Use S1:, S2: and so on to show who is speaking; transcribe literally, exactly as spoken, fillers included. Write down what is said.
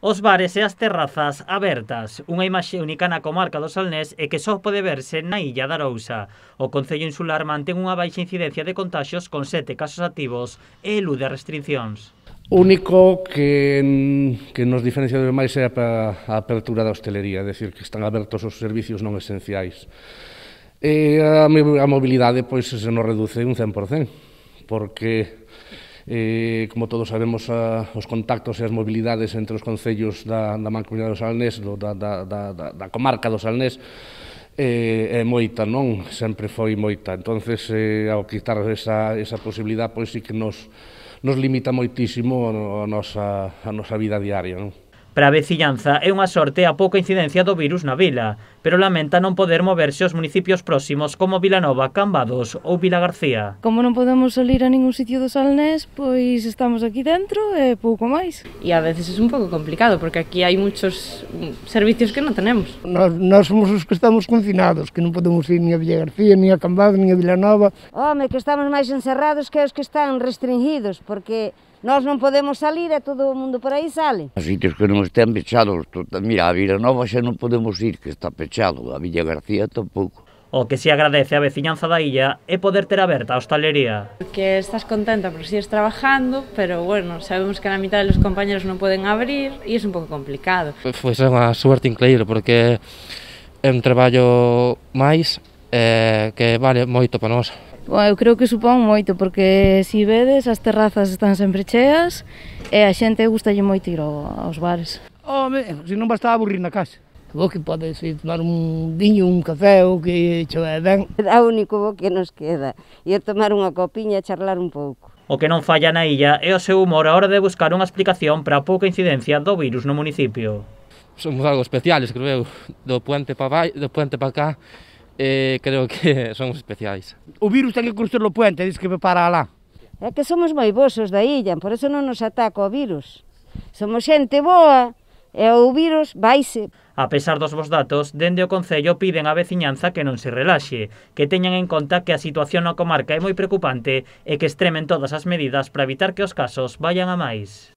S1: Os bares e as terrazas abertas, unha imaxe única na comarca do Salnés e que só pode verse na illa de Arousa. O Concello Insular mantén unha baixa incidencia de contaxios con sete casos activos e elude restriccións.
S2: O único que, que nos diferencia de máis é a apertura da hostelería, é dicir, que están abertos os servicios non esenciais. E a, a mobilidade pois se nos reduce un cen por cen, porque Eh, como todos sabemos, a, os contactos e as mobilidades entre os concellos da, da Mancomunidade do Salnés, do, da, da, da, da comarca do Salnés, eh, é moita, non? Sempre foi moita. Entonces, eh, ao quitar esa, esa posibilidade, pois sí que nos, nos limita moitísimo a, a, nosa, a nosa vida diaria, non?
S1: Para a veciñanza é unha sorte a pouca incidencia do virus na vila, pero lamenta non poder moverse aos municipios próximos como Vilanova, Cambados ou Vilagarcía.
S3: Como non podemos salir a ningún sitio do Salnés, pois estamos aquí dentro e pouco máis.
S4: E a veces é un pouco complicado, porque aquí hai muchos servicios que non tenemos.
S5: Nós, nós somos os que estamos confinados, que non podemos ir ni a Vilagarcía, ni a Cambados, ni a Vilanova.
S6: Home, que estamos máis encerrados que os que están restringidos, porque nós non podemos salir e todo o mundo por aí sale.
S7: Os sitios que non estén pechados, mira, a Vilanova xa non podemos ir, que está pechado, a Vilagarcía tampouco.
S1: O que se agradece a veciñanza da illa é poder ter aberta a hostalería.
S4: Que estás contenta porque sigues trabajando, pero bueno, sabemos que a mitad de los compañeros non poden abrir e é un pouco complicado.
S8: Foi unha suerte increíble porque é un traballo máis eh, que vale moito para nós.
S3: Bueno, eu creo que supón moito, porque se vedes, as terrazas están sempre cheas e a xente gustalle moito ir aos bares.
S5: Home, se non basta aburrir na casa. Vos que podes ir tomar un viño, un café ou que cho é ben.
S6: É o único bo que nos queda, ir tomar unha copiña e charlar un pouco.
S1: O que non falla na illa é o seu humor a hora de buscar unha explicación para a pouca incidencia do virus no municipio.
S8: Somos algo especiales, creo eu, do puente para vai, do puente para cá. Eh, creo que somos especiais.
S5: O virus ten que cruzar o puente, diz que vai para alá.
S6: É que somos moi vosos da illa, por eso non nos ataca o virus. Somos xente boa e o virus vaise.
S1: A pesar dos vos datos, dende o Concello piden á veciñanza que non se relaxe, que teñan en conta que a situación na comarca é moi preocupante e que extremen todas as medidas para evitar que os casos vayan a máis.